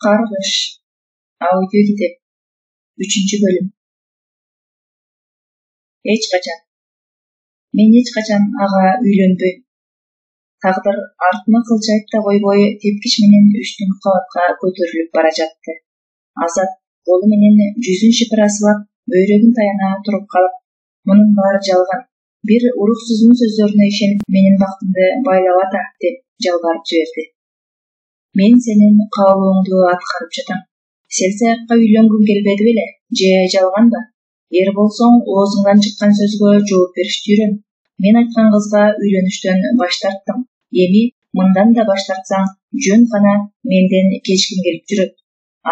Каргыш. Аудиокитеп. 3-бөлүм. Эч качан. Мен эч качан ага үйлөнбөйм. Тагдыр артыма кылчайып да койбой, тепкич менен үчтүн кабатка көтөрүлүп бара жатты. Азат колу менен жүзүн шыпырасылап, бөйрөгүн таяна туруп калып, мунун баары жалган. Бир уруксуздун сөздөрүнө ишенип, менин бактымды байлап ата деп жалбарып жиберди. Мен сенин каалооңду аткарып жатам. Сел саякка үйлөнгүң келбеди беле, же жалганбы? Эр болсоң, оозуңдан чыккан сөзгө жооп беришти үйрөн. Мен айткан кызга үйлөнүштөн баш тарттым. Эми мындан да баш тартсаң, жөн гана менден кечкиң келип жүрөт.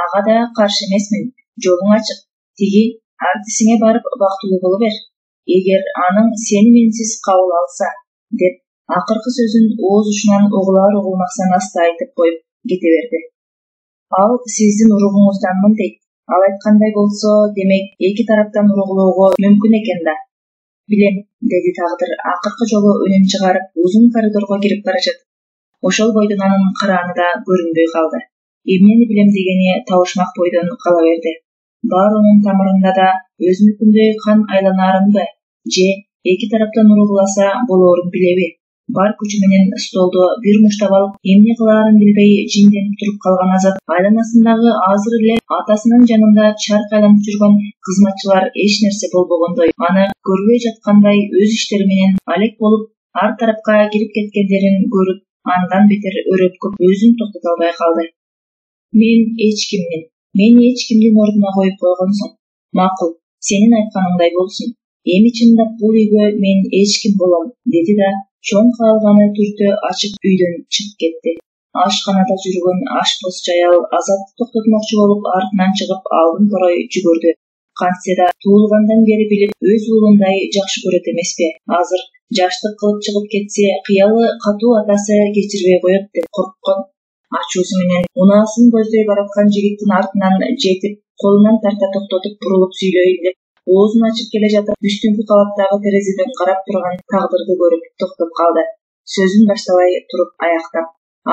Ага да каршы эмесмин. Жолуң ачык. Тиги артисиңе барып бактылуу боло бер. Эгер аның сени менсиз кабыл алса, деп акыркы сөзүн ооз учунан угулар-угулмаксан аста айтып коюп кете берди. Ал сиздин уругуңузданмын дейт. Ал айткандай болсо, демек эки тараптан уругулоого мүмкүн экен да. Билем, деди Тагдыр акыркы жолу үнүн чыгарып, узун коридорго кирип бара жатып. Ошол бойдон анын карааны да көрүнбөй калды. Эмнени билем дегени табышмак бойдон кала берди. Баарынын тамырында да өзүнүкүндөй кан айланаарынбы, же эки тараптан уругуласа болоорун билеби? Бар күчү менен столду бир муштап алып, эмне кылаарын билбей жинденип туруп калган Азат айланасындагы азыр эле атасынын жанында чарк айланып жүргөн кызматчылар эч нерсе болбогондой, аны көрбөй жаткандай өз иштери менен алек болуп, ар тарапка кирип кеткендерин көрүп, андан бетер өрөткөп өзүн токтото албай калды. Мен эч кимдин ордуна коюп койгонсуң. Макул, сенин айтканыңдай болсун. Эми чындап бул үйгө мен эч ким болом, деди да чоң каалганы түртө ачып үйдөн чыгып кетти. Ашканада жүргөн ашпоз аял Азатты токтотмокчу болуп артынан чыгып алдын корой жүгүрдү. Кантсе да туулгандан бери билип, өз уулундай жакшы көрөт эмеспи? Азыр жаштык кылып чыгып кетсе, кыялы катуу атасы кечирбей коет деп корккон. Ачуусу менен унаасын көздөй бараткан жигиттин артынан жетип, колунан тарта токтотуп бурулуп сүйлөйүн деп оозун ачып келе жатып, үстүнкү кабаттагы терезеден карап турган Тагдырды көрүп токтоп калды. Сөзүн баштабай туруп аяктап.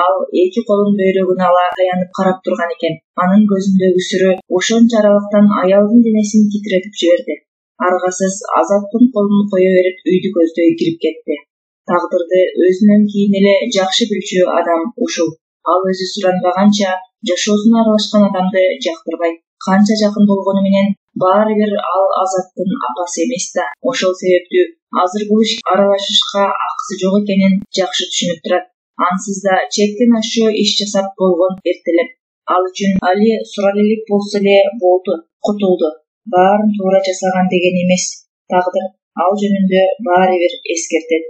Ал эки колун бөйрөгүнө ала таянып карап турган экен. Анын көзүндөгү сүрө ошончо аралыктан аялдын денесин титиретип жиберди. Аргасыз Азаттын колун кое берип үйдү көздөй кирип кетти. Тагдырды өзүнөн кийин эле жакшы билчү адам ушул. Ал өзү суранбаганча жашоосуна аралашкан адамды жактырбайт. Канча жакын болгону менен баары бир ал Азаттын апасы эмес да. Ошол себептүү азыр бул ишке аралашышка акысы жок экенин жакшы түшүнүп турат. Ансыз да чектен ашуу иш жасап болгон эртелеп. Ал үчүн али суралелик болсо эле болду, кутулду. Баарын туура жасаган деген эмес. Тагдыр ал жөнүндө баары бир эскертет.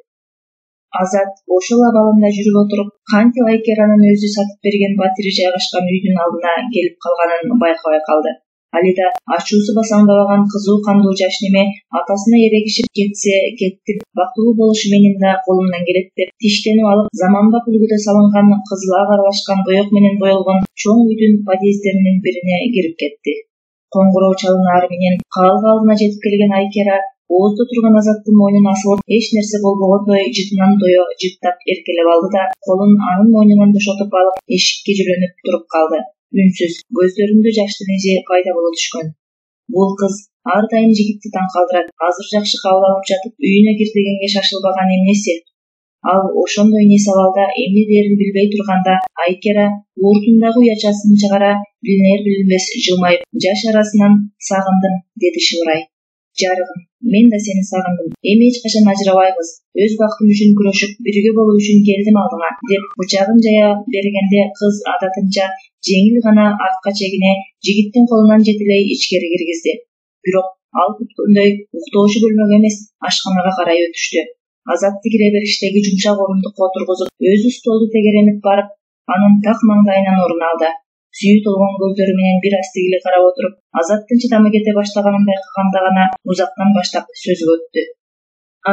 Азат ошол абалында жүрүп отуруп, кантип Айкеранын өзү сатып берген батири жайгашкан үйдүн алдына келип калганын байкабай калды. Алида ачуусу басаңдабаган кызуу кандуу жаш неме атасына эрегишип кетсе кеттим, бактылуу болушу менин да колумдан келет деп тиштенип алып, заманбап үлгүдө салынган кызыл ак аралашкан боек менен боелгон чоң үйдүн подъезддеринин бирине кирип кетти. Коңгуроо чалынаары менен каалга алдына жетип келген Айкера ооздо турган Азаттын мойнуна асылып, эч нерсе болбогондой жытынан дое жыттап эркелеп алды да колун анын мойнунан бошотуп алып, эшикке жүрөнүп туруп калды. Үнсүз, көздөрүндө жаштын изи пайда боло түшкөн. Бул кыз ар дайым жигитти таң калтырат. Азыр жакшы кабыл алып жатып, үйүнө кир дегенге шашылбаган эмнеси? Ал ошондой эс абалда эмне дээрин билбей турганда, Айкера ууртундагы уячасын чыгара, билинер-билинбес жылмайып, жаш арасынан сагындым, деди шыбырай. Жарыгым, мен да сени сагындым. Эми эч качан ажырабайбыз. Өз бактым үчүн күрөшүп, бирге болуу үчүн келдим алдыңа, деп бычагын жая бергенде кыз адатынча жеңил гана артка чегине, жигиттин колунан жетелей ичкери киргизди. Бирок ал күткөндөй уктоочу бөлмөгө эмес, ашканага карай өтүштү. Азатты кире бериштеги жумшак орундукка отургузуп, өзү столду тегеренип барып, анын так маңдайынан орун алды. Сүйүү толгон көздөрү менен бир аз тигиле карап отуруп, Азаттын чыдамы кете баштаганын байкаганда гана узактан баштап сөзгө өттү.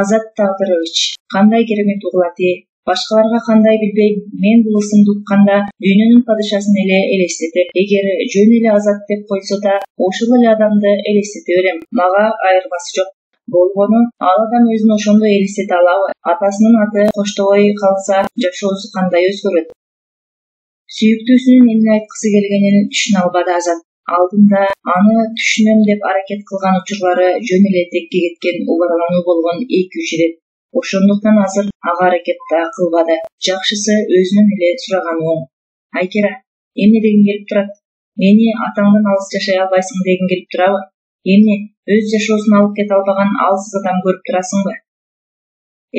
Азат Тагдырович, кандай керемет угул ати, башкаларга кандай билбейм, мен бул ысымды укканда дүйнөнүн падышасын эле элестетеп, эгер жөн эле Азат деп койсо да, ошол эле адамды элестете берем. Мага айырмасы жок. Болгону ал адам өзүн ошондой элестете алабы? Атасынын аты коштобой калса, жашоосу кандай өзгөрөт? Сүйүктүүсүнүн эмне айткысы келгенин түшүнө албады Азат. Алдында аны түшүнөм деп аракет кылган учурлары жөн эле текке кеткен убарлануу болгон 2-3 ирет. Ошондуктан азыр ага аракет да кылбады. Жакшысы өзүнөн эле сураганы оң. Айкера, эмне дегиң келип турат? Мени атаңдан алыс жашай албайсың дегиң келип турабы? Эмне, өз жашоосун алып кете албаган алсыз адам көрүп турасыңбы?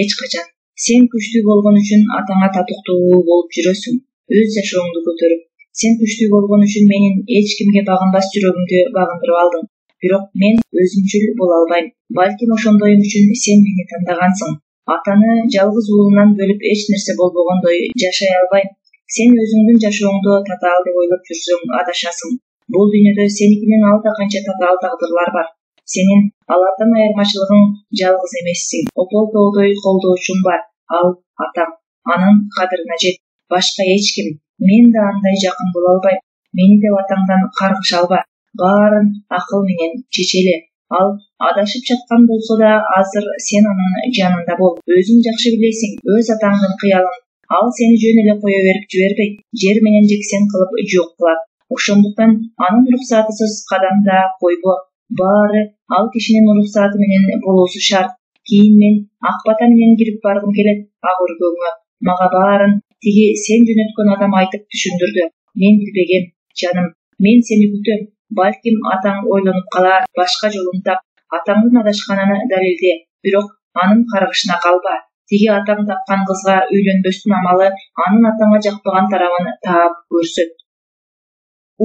Эч качан. Сен күчтүү болгон үчүн атаңа татыктуу болуп жүрөсүң, өз жашооңду көтөрүп. Сен күчтүү болгон үчүн менин эч кимге багынбас жүрөгүмдү багындырып алдың. Бирок мен өзүмчүл боло албайм. Балким ошондойум үчүн сен мени тандагансың. Атаны жалгыз уулунан бөлүп эч нерсе болбогондой жашай албайм. Сен өзүңдүн жашооңду татаал деп ойлоп жүрсөң адашасың. Бул дүйнөдө сеникинен алда канча татаал тагдырлар бар. Сенин алардан айырмачылыгың жалгыз эмессиң. Опол-тоодой колдоочуң бар. Ал атаң. Анын кадырына жет. Башка эч ким. Мен да андай жакын боло албайм. Мени деп атаңдан каргыша алба. Баарын акыл менен чечели. Ал адашып жаткан болсо да азыр сен анын жанында бол. Өзүң жакшы билесиң, өз атаңдын кыялын. Ал сени жөн эле кое берип жибербейт. Жер менен жексен кылып жок кылат. Ошондуктан анын уруксатысыз кадам да койбо. Баары ал кишинин уруксаты менен болуусу шарт. Кийин мен ак бата менен кирип баргым келет ак өргөңө. Мага баарын тиги сен жөнөткөн адам айтып түшүндүрдү. Мен билбегем, жаным. Мен сени күтөм. Балким атаң ойлонуп калар, башка жолун тап. Атаңдын адашканын далилде. Бирок анын каргышына калба. Тиги атаң тапкан кызга үйлөнбөстүн амалы анын атаңа жакпаган тарабын таап көрсөт.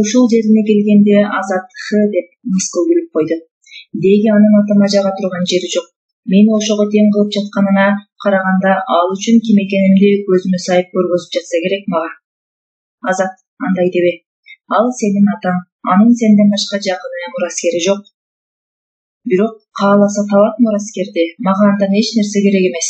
Ушул жерине келгенде Азат деп мыскыл күлүп койду. Деги анын атама жага турган жери жок. Мени ошого тең кылып жатканына караганда ал үчүн ким экенимди көзүмө сайып көргөзүп жатса керек мага. Азат, андай дебе. Ал сенин атаң, анын сенден башка жакыны мураскери жок. Бирок кааласа табат мураскерди. Мага андан эч нерсе керек эмес.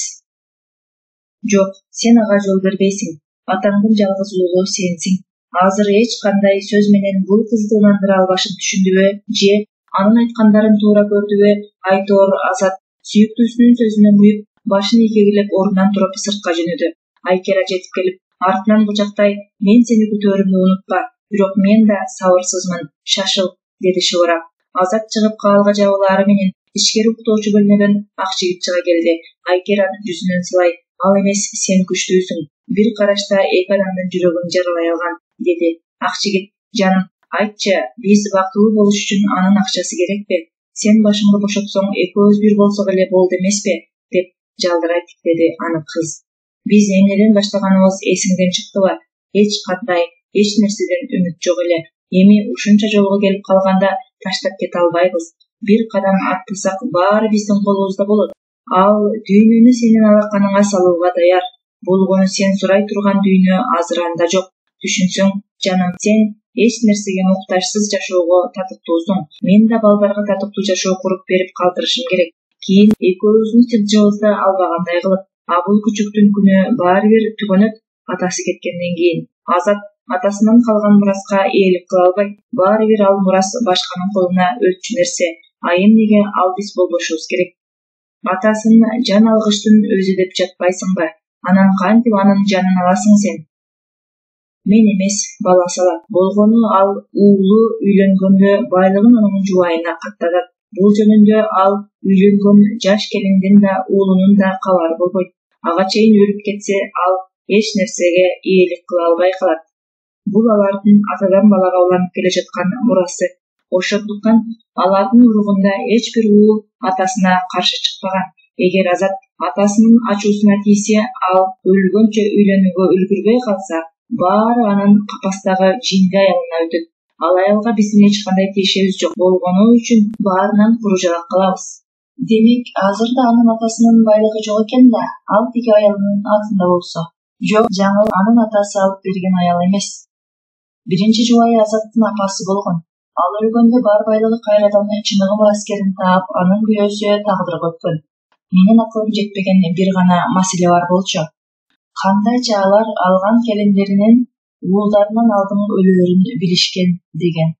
Жок, сен ага жол бербейсиң. Атаңдын жалгыз уулу сенсиң. Азыр эч кандай сөз менен бул кызды ынандыра албашын түшүндүбү же анын айткандарын туура көрдүбү? Айтор Азат сүйүктүүсүнүн сөзүнө муюп, башын ийгегилеп ордунан туруп сыртка жөнөдү. Айкера жетип келип, артынан кучактай, мен сени күтөөрүмдү унутпа. Бирок мен да сабырсызмын, шашыл, деди шыбырап. Азат чыгып каалга жабылаары менен ичкери уктоочу бөлмөдөн ак жигит чыга келди. Айкеранын жүзүнөн сылай, ал эмес, сен күчтүүсүң. Бир карашта эки адамдын жүрөгүн жаралай алган, деди. Ак жигит, жаным, айтчы, биз бактылуу болуш үчүн анын акчасы керекпи? Сен башыңды бошотсоң, экөөбүз бир болсок эле болду эмеспи? Деп жалдырай тиктеди аны кыз. Биз эмнеден баштаганыбыз эсиңден чыктыбы? Эч кандай, эч нерседен үмүт жок эле. Эми ушунча жолго келип калганда таштап кете албайбыз. Бир кадам аттасак, баары биздин колубузда болот. Ал дүйнөнү сенин алаканыңа салууга даяр. Болгону сен сурай турган дүйнө азыр анда жок. Түшүнсөң, жаным, сен эч нерсеге муктажсыз жашоого татыктуусуң. Мен да балдарга татыктуу жашоо куруп берип калтырышым керек. Кийин экөөбүздүн тилжибызды албагандай кылып. А бул күчүктүн күнү баары бир түгөнөт, атасы кеткенден кийин. Азат атасынан калган мураска ээлик кыла албайт. Баары бир ал мурас башканын колуна өтчү нерсе. А эмнеге ал биз болбошубуз керек? Атасын жан алгычтын өзү деп жатпайсыңбы? Анан кантип анын жанын аласың сен? Мен эмес, бала салат. Болгону ал уулу үйлөнгөндө байлыгын анын жубайына каттатат. Бул жөнүндө ал үйлөнгөн жаш келиндин да уулунун да кабары болбойт. Ага чейин өлүп кетсе, ал эч нерсеге ээлик кыла албай калат. Бул алардын атадан балага уланып келе жаткан мурасы. Ошондуктан алардын уругунда эч бир уул атасына каршы чыкпаган. Эгер Азат атасынын ачуусуна тийсе, ал өлгөнчө үйлөнүүгө үлгүрбөй калса, баары анын капастагы жинди аялына өтөт. Ал аялга биздин эч кандай тиешебиз жок болгону үчүн баарынан куружалак кылабыз. Демек, азыр да анын атасынын байлыгы жок экен да, ал тиги аялынын атында болсо. Жок, жаңыл анын атасы алып берген аял эмес. Биринчи жубайы Азаттын апасы болгон. Ал өлгөндө бар байлыгы кайрадан чыныгы мураскерин таап, анын күйөөсү тагдырга өткөн. Менин акылым жетпеген бир гана маселе бар болчу. Кандайча алар алган келиндеринин уулдарынан алдын өлөөрүн билишкен деген.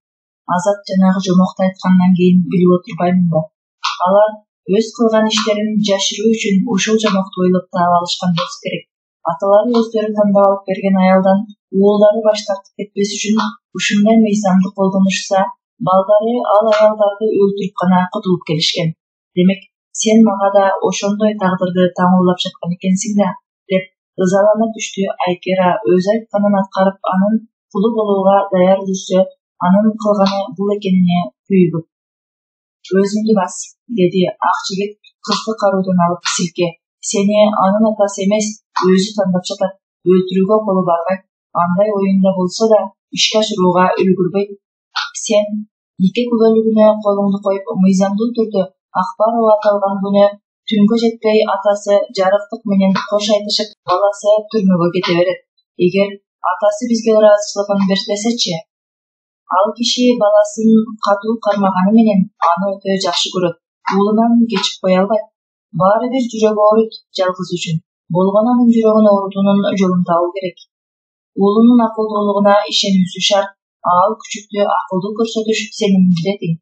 Азат жанагы жомокту айткандан кийин билип отурбаймынбы? Алар өз кылган иштерин жашыруу үчүн ушул жомокту ойлоп таап алышкан болсо керек. Аталары өздөрү тандап алып берген аялдан уулдары баш тартып кетпес үчүн ушундай мыйзамды колдонушса, балдары ал аялдарды өлтүрүп гана кутулуп келишкен. Демек, сен мага да ошондой тагдырды таңуулап жаткан экенсиң да, деп ызалана түштү Айкера. Өзү айтканын аткарып, анын кулу болууга даяр жүрсө, анын кылганы бул экенине күйүгүп. Өзүңдү бас, деди ак жигит кызды кароодон алып силке. Сени анын атасы эмес, өзү тандап жатат. Өлтүрүүгө колу барбайт. Андай оюнда болсо да ишке ашырууга үлгүрбөйт. Сен нике күбөлүгүнө колуңду коюп, мыйзамдуу түрдө Акбарова аталган күнү түнгө жетпей атасы жарыктык менен кош айтышып, баласы түрмөгө кете берет. Эгер атасы бизге ыраазычылыгын бербесечи, ал киши баласын катуу кармаганы менен аны өтө жакшы көрөт. Уулунан кечип кое албайт. Баары бир жүрөгү ооруйт жалгыз үчүн. Болгону анын жүрөгүн оорутуунун жолун табуу керек. Уулунун акылдуулугуна ишенүүсү шарт. Ал күчүктү акылдуу көрсөтүш сенин милдетиң.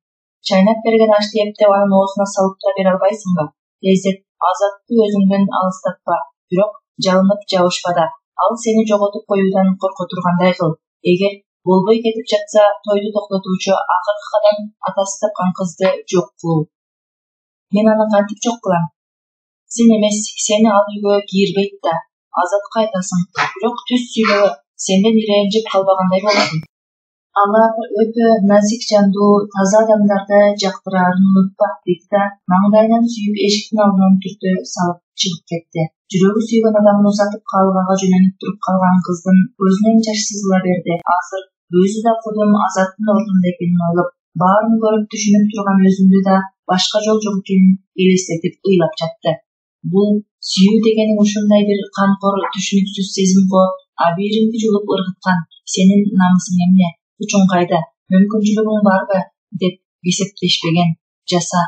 Чайнап берген ашты эптеп анын оозуна салып да бере албайсыңбы? Тездет, Азатты өзүңдөн алыстатпа, бирок жалынып жабышпа да. Ал сени жоготуп коюудан корко тургандай кыл. Эгер болбой кетип жатса, тойду токтотуучу акыркы кадам атасы тапкан кызды жок кылуу. Мен аны кантип жок кылам? Сен эмес, сени ал үйгө кийирбейт да. Азатка айтасың, бирок түз сүйлөгө, сенден ирэнжип калбагандай болосуң. Алар өтө назик жандуу, таза адамдарды жактыраарын унутпа, деди да маңдайынан сүйүп эшиктин алдынан түртө салып чыгып кетти. Жүрөгү сүйгөн адамын узатып калыбага жөнөнүп туруп калган кыздын көзүнөн жаш сызыла берди. Азыр өзү да кудум Азаттын ордунда экенин ойлоп, баарын көрүп түшүнүп турган өзүндү да башка жол жок экенин элестетип ыйлап жатты. Бул сүйүү дегениң ушундай бир канкор, түшүнүксүз сезим го. Абийиримди жулуп ыргыткан. Сенин намысың эмне? Күчүң кайда? Мүмкүнчүлүгүң барбы? Деп кесептешпеген. Жаса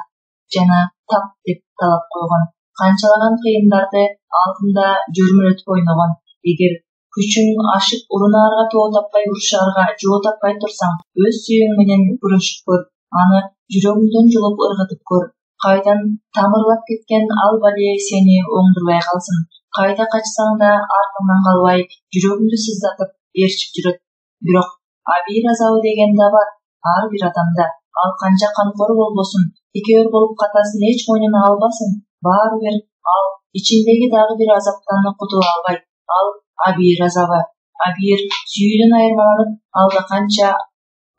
жана тап деп талап койгон. Канчалаган кыйындарды алдында жөрмөлөтүп ойногон. Эгер күчүң ашып урунаарга тоо таппай, урушаарга жоо таппай турсаң, өз сүйүүң менен күрөшүп көр. Аны жүрөгүңдөн жулуп ыргытып көр. Кайдан тамырлап кеткен ал балие сени оңдурбай калсын. Кайда качсаң да артыңдан калбай, жүрөгүңдү сыздатып ээрчип жүрөт. Бирок абийир азабы деген да бар ар бир адамда. Ал канча канкор болбосун, текебер болуп катасын эч мойнуна албасын, баары бир ал ичиндеги дагы бир азаптан кутула албайт. Ал абийир азабы. Абийир сүйүүдөн айырмаланып, алда канча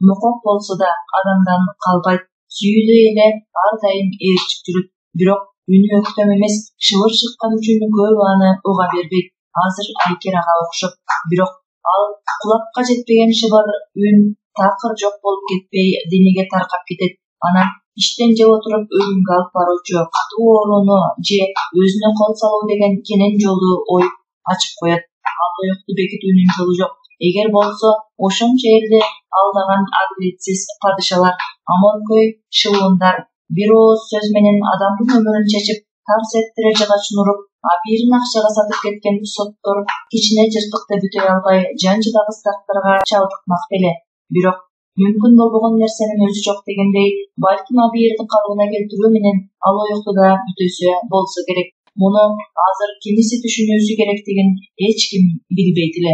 мукок болсо да адамдан калбайт. Сүйүүдө эле ар дайым ээрчип жүрөт. Бирок үнү өктөм эмес, шыбыр чыккан үчүн көбү аны уга бербейт. Азыр Айкерага окшоп. Бирок ал кулакка жетпеген шыбыр үн такыр жок болуп кетпей денеге таркап кетет. Анан иштен жеп отуруп өлүмгө алып баруучу катуу ооруну же өзүнө кол салуу деген кенен жолду оюп ачып коет. Алоёкту бекитүүнүн жолу жок. Эгер болсо, ошончо элди алдаган адилетсиз падышалар, аманкөй шылуундар бир ооз сөз менен адамдын өмүрүн чечип, тарс эттире жыгачын уруп, абийирин акчага сатып кеткен соттор кичине жыртыкты бүтөй албай, жан жыдагыс дактарга чалдыкмак беле. Бирок мүмкүн болбогон нерсенин өзү жок дегендей, балким абийирди калыбына келтирүү менен алоёкту да бүтөсө болсо керек. Муну азыр кимиси түшүнүүсү керектигин эч ким билбейт эле.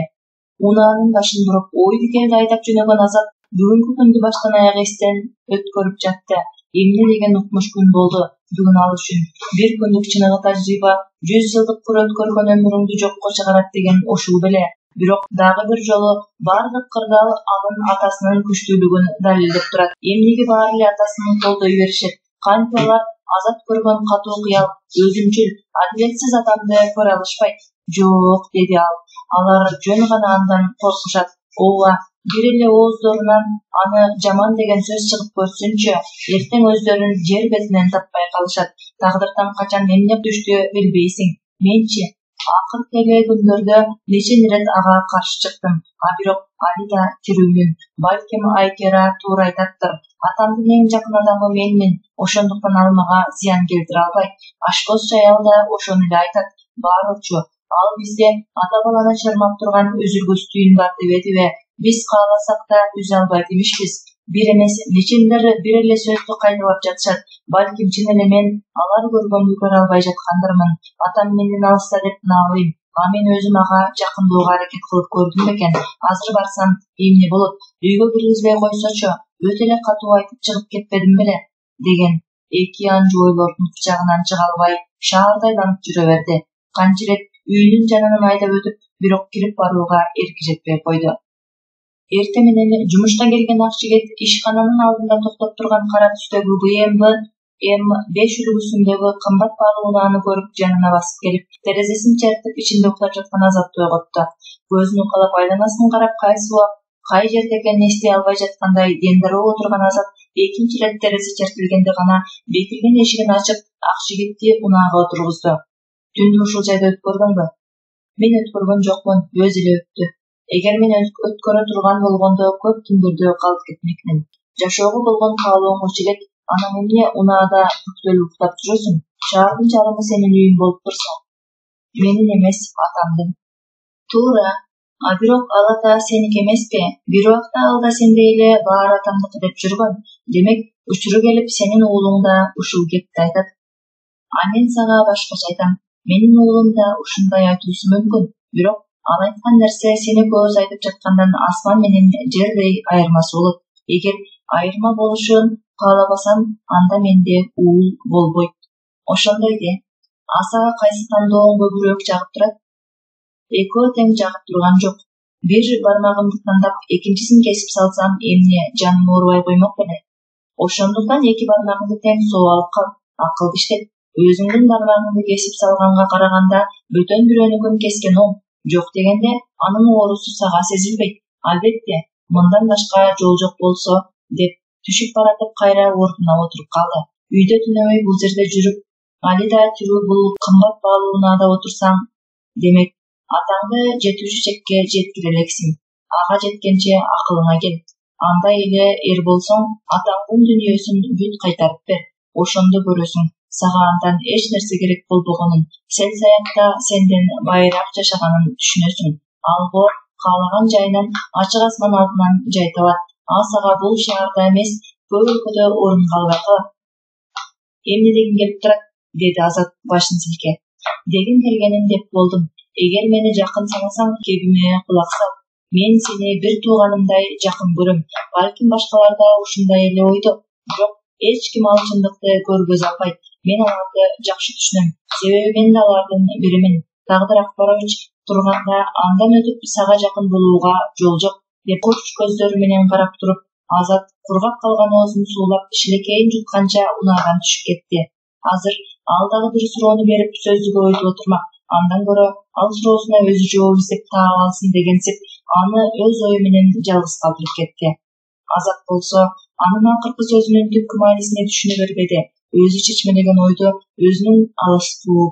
Унаанын башын буруп, ойду келди айдап жөнөгөн Азат бүгүнкү күндү баштан аяк эстен өткөрүп жатты. Эмне деген укмуш күн болду бүгүн ал үчүн. Бир күндүк чыныгы тажрыйба 100 жылдык кур өткөргөн өмүрүңдү жокко чыгарат деген ушул беле. Бирок дагы бир жолу бардык кырдаал анын атасынын күчтүүлүгүн далилдеп турат. Эмнеге баары эле атасын колдой беришет? Кантип алар Азат көргөн катуу кыял, өзүмчүл, адилетсиз адамды көрө алышпайт? Жок, деди ал. Алар жөн гана андан коркушат. Ооба, бир эле ооздорунан аны жаман деген сөз чыгып көрсүнчү, эртең өздөрүн жер бетинен таппай калышат. Тагдырдан качан эмне түштү билбейсиң. Менчи акыркы эле күндөрдө нече ирет ага каршы чыктым. Бирок али да тирүүмүн. Балким Айкера туура айтаттыр. Атамдын эң жакын адамы менмин. Ошондуктан ал мага зыян келтире албайт. Ашкоз Жаял да ошону эле айтат. Баарычы, ал бизде ата баланы чырмап турган үзүлгүс түйүн бар дебедиби? Биз кааласак да үзө албайт имишпиз. Бир эмес, нечелер бир эле сөздү кайталап жатышат. Балким чын эле мен алар көргөндү көрө албай жаткандырмын. Атам менден алыста деп наалыйм. Мен өзүм ага жакындоого аракет кылып көрдүм бекен. Азыр барсам эмне болот? Үйгө киргизбей койсочу, өтө эле катуу айтып чыгып кетпедим беле? Деген эки анжу ойлордун кычагынан чыга албай шаарда айланып жүрө берди. Канча ирет үйүнүн жанынан айдап өтүп, бирок кирип барууга эрки жетпей койду. Эртең менен жумушка келген ак жигит ишкананын алдында токтоп турган кара түстөгү BMW М5 үлгүсүндөгү кымбат баалуу унааны көрүп жанына басып келип, терезесин чертип ичинде уктап жаткан Азатты ойготту. Көзүн укалап айланасын карап, кайсы убак кай жерде экенин эстей албай жаткандай дендароо отурган Азат экинчи ирет терезе чертилгенде гана бекиген эшигин ачып, ак жигитти унаага отургузду. Түндү ушул жайда өткөрдүңбү? Мен өткөргөн жокмун, өзү эле өттү. Эгер мен өткөрө турган болгондо көп түндөрдө калып кетмекмин. Жашоого болгон каалооңчу элек, анан эмне унаада бүктөлүп уктап жүрөсүң? Шаардын жарымы сенин үйүң болуп турса. Менин эмес, атамдын. Туура. Бирок ал ата сеники эмеспи? Бир убакта ал да сендей эле баары атамдыкы деп жүргөн. Демек, учуру келип сенин уулуң да ушул кепти айтат. Мен сага башкача айтам. Менин уулум да ушундай айтуусу мүмкүн. Бирок ал айткан нерсе сени көз айтып жаткандан асман менен жердей айырмасы болот. Эгер айырма болушун каалабасам, анда менде уул болбойт. Ошондой де. Сага кайсы тандооң көбүрөөк жагып турат? Экөө тең жагып турган жок. Бир бармагымды тандап, экинчисин кесип салсам, эмне жаным оорубай коймок беле? Ошондуктан эки бармагыңды тең соо алып кал. Акылды иштет. Өзүңдүн бармагыңды кесип салганга караганда бөтөн бирөөнүкүн кескен оң. Жок дегенде, анын оорусу сага сезилбейт. Албетте, мындан башка жол жок болсо, деп түшүп баратып кайра ордуна отуруп калды. Үйдө түнөбөй бул жерде жүрүп, али да тирүү бул кымбат баалуу унаада отурсаң, демек, атаңды жетүүчү чекке жеткире элексиң. Ага жеткенче акылыңа кел. Андай эле эр болсоң, атаңдын дүнүйөсүн бүт кайтарып бер. Ошондо көрөсүң, сага андан эч нерсе керек болбогонун, сел-саякта сенден байыраак жашаганын түшүнөсүң. Ал боор каалаган жайынан ачык асман алдынан жай табат. Сага бул шаарда эмес, көп өлкөдө орун калбай калат. Эмне дегиң келип турат? Деди Азат башын силкеп. Дегим келгенин деп болдум. Эгер мени жакын санасаң, кебиме кулак сал. Мен сени бир тууганымдай жакын көрөм. Балким башкалар да ушундай эле ойдо. Бирок эч ким ал чындыкты көргөзө албайт. Мен аларды жакшы түшүнөм. Себеби мен да алардын биримин. Тагдыр Акбарович турганда андан өтүп сага жакын болууга жол жок, деп курч көздөрү менен карап туруп, Азат кургап калган оозун суулап, шилекейин жутканча унаадан түшүп кетти. Азыр ал дагы бир суроону берип сөздү көбөйтүп отурмак. Андан көрө ал суроосуна өзү жооп издеп таап алсын дегенсип, аны өз ою менен жалгыз калтырып кетти. Азат болсо, анын акыркы сөзүнүн түпкү маанисине түшүнө бербеди. Өзү чечмелеген ойду өзүнүн алыстуу,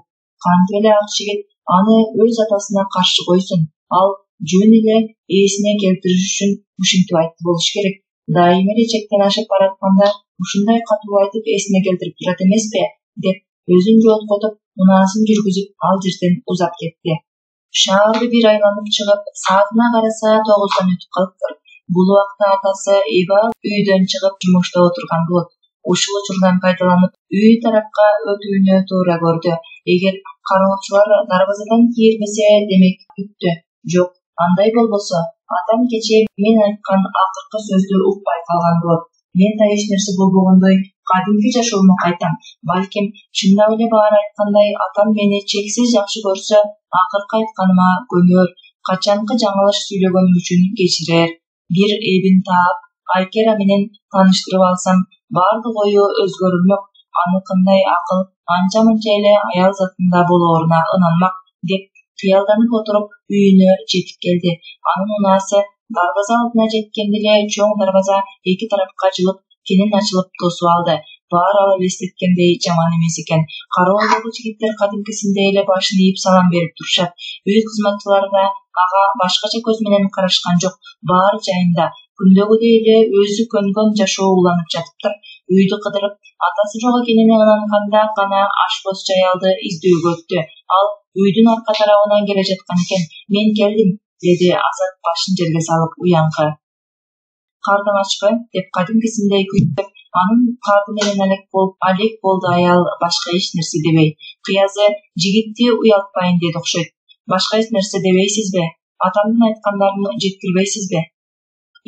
кантип эле ак жигит аны өз атасына каршы койсун. Ал жөн эле ээсине келтириш үчүн ушинтип айтты болуш керек. Дайыма эле чектен ашып баратканда ушундай катуу айтып эсине келтирип турат эмеспи, деп өзүн жооткотуп, унаасын жүргүзүп ал жерден узап кетти. Шаарды бир айланып чыгып, саатына караса 9 өтүп калыптыр. Бул убакта атасы Эба үйдөн чыгып жумушта отурган болот. Ушул учурдан пайдаланып, үй тарапка өтүүнү туура көрдү. Эгер кароочулар дарбазадан кирбесе, демек күттү. Жок, андай болбосо, атам кечээ мен айткан акыркы сөздү укпай калган болот. Мен да эч нерсе болбогондой кадимки жашоомо кайтам. Балким, чындап эле баары айткандай, атам мени чексиз жакшы көрсө, акыркы айтканыма көнөр, качанкы жаңылыш сүйлөгөнүм үчүн кечирер. Бир эбин таап, Айкера менен тааныштырып алсам, баардык ою өзгөрүлмөк. Аныкындай акыл анча-мынча эле аял затында болооруна ынанмак, деп кыялданып отуруп үйүнө жетип келди. Анын унаасы дарбаза алдына жеткенде эле чоң дарбаза эки тарапка ачылып, кенен ачылып тосуп алды. Баары ал элестеткендей жаман эмес экен. Кароолдогу жигиттер кадимкисиндей эле башын ийип салам берип турушат. Үй кызматчылары да ага башкача көз менен карашкан жок. Баары жайында, күндөгүдөй эле өзү көнгөн жашоо уланып жатыптыр. Үйдү кыдырып, атасы жок экенине ынанганда гана ашпоз аялды издөөгө өттү. Ал үйдүн арка тарабынан келе жаткан экен. Мен келдим, деди Азат башын жерге салып уяңкы. Кардың ачпы, деп кадимкисиндей күттүп, анын карды менен алек болду аял, башка эч нерсе дебей. Кыязы жигитти уялтпайын деди окшойт. Башка эч нерсе дебейсизби? Атамдын айткандарын жеткирбейсизби?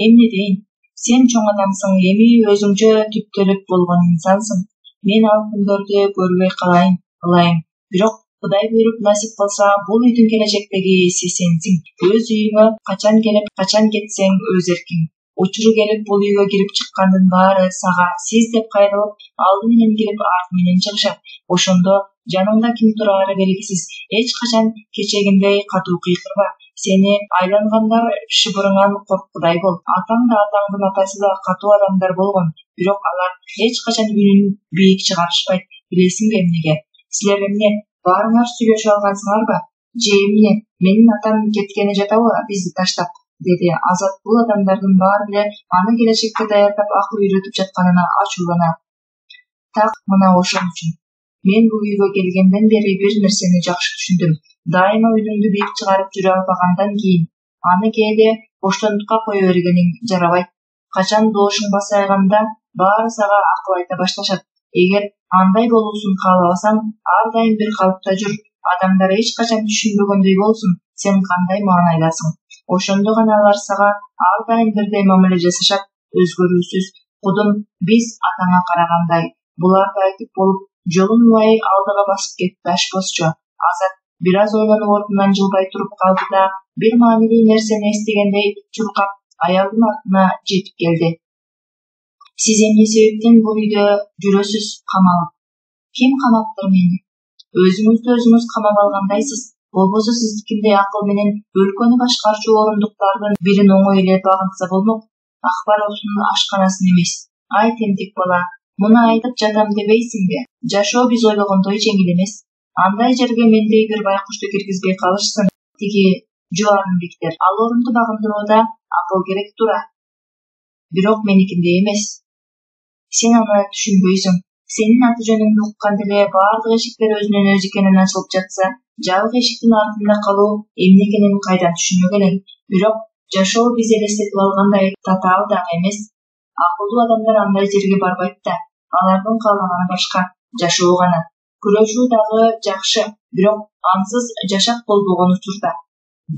Эмне дейин? Сен чоң адамсың, эми өзүңчө түптөлүп болгон инсансың. Мен ал күндөрдү көрбөй калайын, ылайым. Бирок Кудай буйруп насип кылса, бул үйдүн келечектеги ээси сенсиң. Өз үйүңө качан келип, качан кетсең өз эркиң. Учуру келип бул үйгө кирип чыккандын баары сага сиз деп кайрылып, алды менен кирип арты менен чыгышат. Ошондо жаныңда ким турары белгисиз. Эч качан кечегиндей катуу кыйкырба. Сени айлангандар шыбырыңан корккудай бол. Атаң да атаңдын атасы да катуу адамдар болгон, бирок алар эч качан үнүн бийик чыгарышпайт. Билесиңби эмнеге? Силер эмне баарыңар сүйлөшүп алгансыңарбы? Же эмне? Менин атам кеткени жатабы бизди таштап? Деди Азат бул адамдардын баары эле аны келечекке даярдап акыл үйрөтүп жатканына ачуулана. Так мына ошон үчүн. Мен бул үйгө келгенден бери бир нерсени жакшы түшүндүм. Дайыма үнүңдү бийик чыгарып жүрө албагандан кийин аны кээде боштондукка кое бергениң жарабайт. Качан добушуң басайганда баары сага акыл айта башташат. Эгер андай болуусун каалабасаң, ар дайым бир калыпта жүр. Адамдар эч качан түшүнбөгөндөй болсун, сен кандай маанайдасың. Ошондо гана алар сага ар дайым бирдей мамиле жасашат. Өзгөрүүсүз. Кудум биз атаңа карагандай. Буларды айтып болуп, жолун улай алдыга басып кетти ашпозчу. Азат бир аз ойлонуп ордунан жылбай туруп калды да, бир маанилүү нерсени эстегендей чуркап аялдын артына жетип келди. Сиз эмне себептен бул үйдө жүрөсүз камалып? Ким камаптыр мени? Өзүңүздү өзүңүз камап алгандайсыз. Болбосо сиздикиндей акыл менен өлкөнү башкарчу орундуктардын бирин оңой эле багынтса болмок. Акбаровдун ашканасын эмес. Ай тентек бала, муну айтып жатам дебейсиңби? Жашоо биз ойлогондой жеңил эмес. Андай жерге мендей бир байкушту киргизбей калышсын тиги жубарымбектер. Ал орунду багындырууда акыл керек тура. Бирок меникиндей эмес. Сен аны түшүнбөйсүң. Сенин аты жөнүңдү укканда эле баардык эшиктер өзүнөн өзү экенин ачылып жатса, жабык эшиктин артында калуу эмне экенин кайдан түшүнмөк элең. Бирок жашоо биз элестетип алгандай татаал дагы эмес. Акылдуу адамдар андай жерге барбайт да. Алардын каалаганы башка, жашоо гана. Күрөшүү дагы жакшы, бирок ансыз жашак болбогон учурда.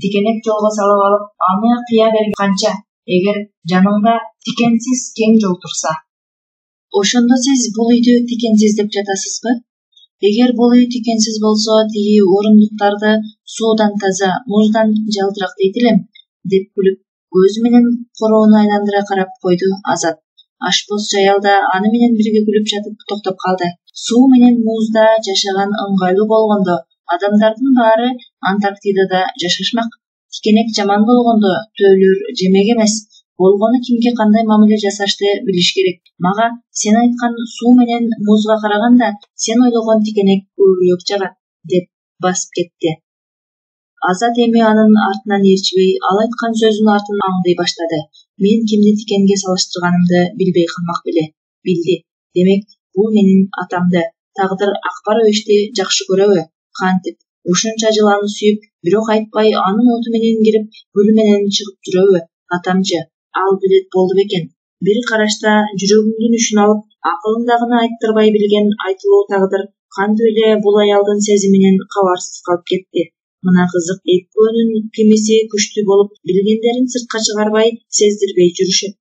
Тикенек жолго салып алып, аны кыя берген канча, эгер жаныңда тикенсиз кең жол турса. Ошондо сиз бул үйдү тикенсиз деп жатасызбы? Эгер бул үй тикенсиз болсо, тиги орундуктарды суудан таза, муждан жалтырак дейт элем, деп күлүп, көзү менен короону айландыра карап койду Азат. Ашпозчу аял да аны менен бирге күлүп жатып токтоп калды. Суу менен музда жашаган ыңгайлуу болгондо, адамдардын баары Антарктидада жашашмак. Тикенек жаман болгондо төөлөр жемек эмес. Болгону кимге кандай мамиле жасашты билиш керек. Мага сен айткан суу менен музга караганда сен ойлогон тикенек көбүрөөк жагат, деп басып кетти. Азат эми анын артынан ээрчибей, ал айткан сөзүнүн артын аңдый баштады. Мен кимди тикенге салыштырганымды билбей калмак беле. Билди. Демек, бул менин атамды. Тагдыр Акбаровичти жакшы көрөбү? Кантип? Ушунча жыл аны сүйүп, бирок айтпай анын оту менен кирип, гүлү менен чыгып жүрөбү? Атамчы, ал билет болду бекен. Бир карашта жүрөгүңдүн үчүн алып, акылыңдагыны айттырбай билген айтылуу тагдыр кантип эле бул аялдын сезиминен кабарсыз калып кетти. Мына кызык, экөөнүн кимиси күчтүү болуп, билгендерин сыртка чыгарбай, сездирбей жүрүшөт.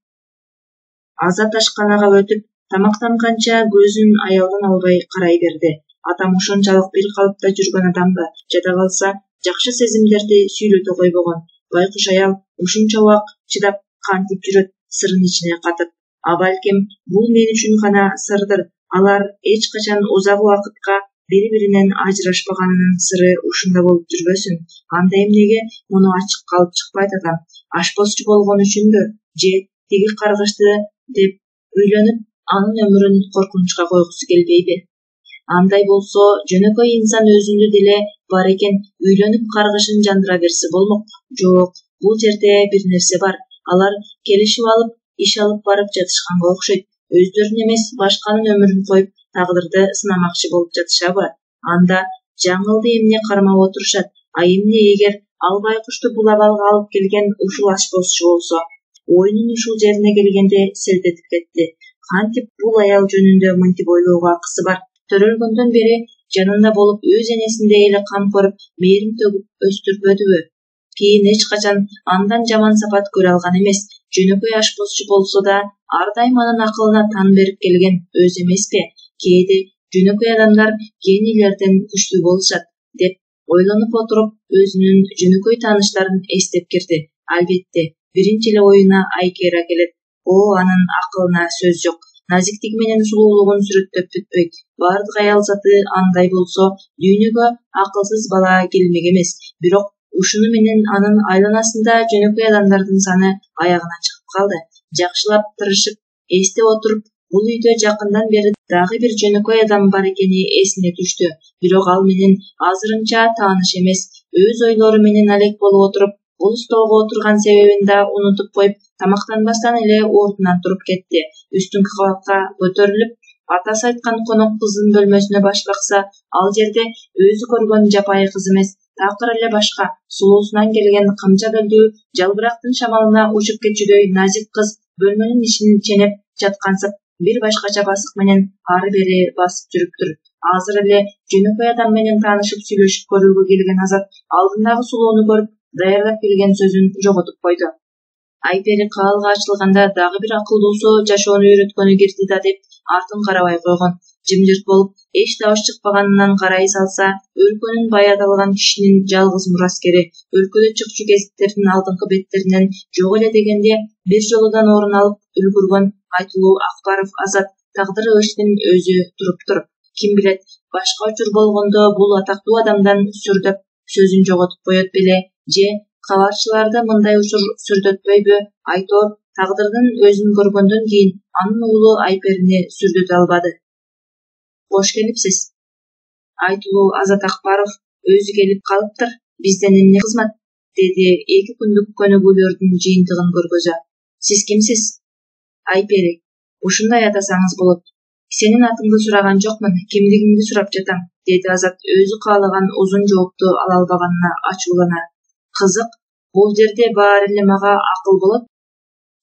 Азат ашканага өтүп, тамактанганча көзүн аялдан албай карай берди. Атам ошончалык бир калыпта жүргөн адамбы? Жада калса, жакшы сезимдерди сүйлөтө койбогон. Байкуш аял ушунча убак чыдап кантип жүрөт, сырын ичине катып. А балким, бул мен үчүн гана сырдыр. Алар эч качан узак убакытка бири-биринен ажырашпаганынын сыры ушунда болуп жүрбөсүн. Анда эмнеге муну ачык калып чыкпайт атам? Ашпозчу болгон үчүнбү? Же тиги каргышты деп үйлөнүп, анын өмүрүн коркунучка койгусу келбейби? Андай болсо, жөнөкөй инсан өзүндө деле бар экен, үйлөнүп каргышын жандыра берсе болмок. Жок, бул жерде бир нерсе бар. Алар келишип алып, иш алып барып жатышканга окшойт. Өздөрүн эмес, башканын өмүрүн коюп, тагдырды сынамакчы болуп жатышабы? Анда жаңылды эмне кармап отурушат? А эмне эгер ал байкушту бул абалга алып келген ушул ашпозчу болсо? Ойнун ушул жерине келгенде селт этип кетти. Кантип бул аял жөнүндө мынтип ойлоого акысы бар? Төрөлгөндөн бери жанында болуп өз энесиндей эле кам көрүп, мээрим төгүп өстүрбөдүбү? Кийин эч качан андан жаман сапат көрө алган эмес. Жөнөкөй ашпозчу болсо да, ар дайым анын акылына тан берип келген өзү эмеспи? Кээде жөнөкөй адамдар генийлерден күчтүү болушат, деп ойлонуп отуруп, өзүнүн жөнөкөй тааныштарын эстеп кирди. Албетте, биринчи эле оюна Айпери келет. Анын акылына сөз жок. Назиктиги менен сулуулугун сүрөттөп бүтпөйт. Баардык аял заты андай болсо, дүйнөгө акылсыз бала келмек эмес. Бирок ушуну менен анын айланасында жөнөкөй адамдардын саны аягына чыгып калды. Жакшылап тырышып эстеп отуруп, бул үйдө жакындан бери дагы бир жөнөкөй адам бар экени эсине түштү. Бирок ал менен азырынча тааныш эмес. Өз ойлору менен алек болуп отуруп, бул столго отурган себебин да унутуп коюп, тамактанбастан эле ордунан туруп кетти. Үстүнкү кабатка көтөрүлүп, атасы айткан конок кыздын бөлмөсүнө баш бакса, ал жерде өзү көргөн жапайы кыз эмес, такыр эле башка, сулуусунан келген камча белдүү, жалбырактын шамалына учуп кетчүдөй назик кыз бөлмөнүн ишин ченеп жаткансып, бир башкача басык менен ары-бери басып жүрүптүр. Азыр эле жөнөкөй адам менен таанышып сүйлөшүп көрүүгө келген Азат алдындагы сулууну көрүп, даярдап келген сөзүн жоготуп койду. Айпери каалга ачылганда дагы бир акылдуусу жашоону үйрөткөнү кирди да деп артын карабай койгон. Жымжырт болуп, эч табыш чыкпаганынан карай салса, өлкөнүн бай аталган кишинин жалгыз мураскери, өлкөдө чыкчу гезиттердин алдыңкы беттеринен жок эле дегенде бир жолудан орун алып үлгүргөн Айтылуу Акбаров Азат тагдыры иштин өзү туруптур. Ким билет, башка учур болгондо бул атактуу адамдан сүрдөп сөзүн жоготуп коет беле, же кабарчыларды мындай учур сүрдөтпөйбү? Айтор тагдырдын өзүн көргөндөн кийин анын уулу Айперини сүрдөтө албады. Кош келипсиз. Айтылуу Азат Акбаров өзү келип калыптыр. Бизден эмне кызмат? Деди эки күндүк көнүгүүлөрдүн жыйынтыгын көргөзө. Сиз кимсиз? Айпери. Ушундай атасаңыз болот. Сенин атыңды сураган жокмун, кимдигиңди сурап жатам, деди Азат өзү каалаган узун жоопту ала албаганына ачуулана. Кызык, бул жерде баары эле мага акыл болот.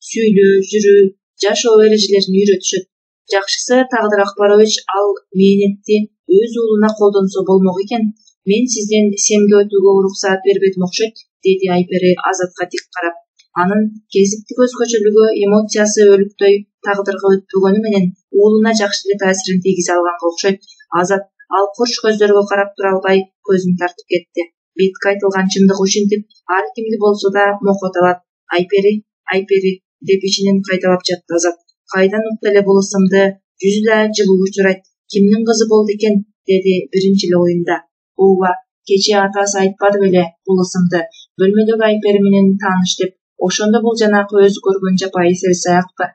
Сүйлөө, жүрүү, жашоо эрежелерин үйрөтүшөт. Жакшысы Тагдыр Акбарович ал мээнетти өз уулуна колдонсо болмок экен. Мен сизден семге өтүүгө уруксаат бербедим окшойт, деди Айпери Азатка тик карап. Анын кезиптик өзгөчөлүгү, эмоциясы өлүктөй Тагдырга өтпөгөнү менен уулуна жакшы эле таасирин тийгизе алганга окшойт. Азат ал курч көздөргө карап тура албай көзүн тартып кетти. Бетке айтылган чындык ушинтип ар кимди болсо да мокот алат. Айпери, Айпери деп ичинен кайталап жатты Азат. Кайдан укту эле бул ысымды? Жүзү да жылуу учурайт. Кимдин кызы болду экен? Деди биринчи эле оюнда. Ооба, кечээ атасы айтпады беле бул ысымды? Бөлмөдөгү Айпери менен тааныш деп. Ошондо бул жанакы өзү көргөн жапайы селсаякпы?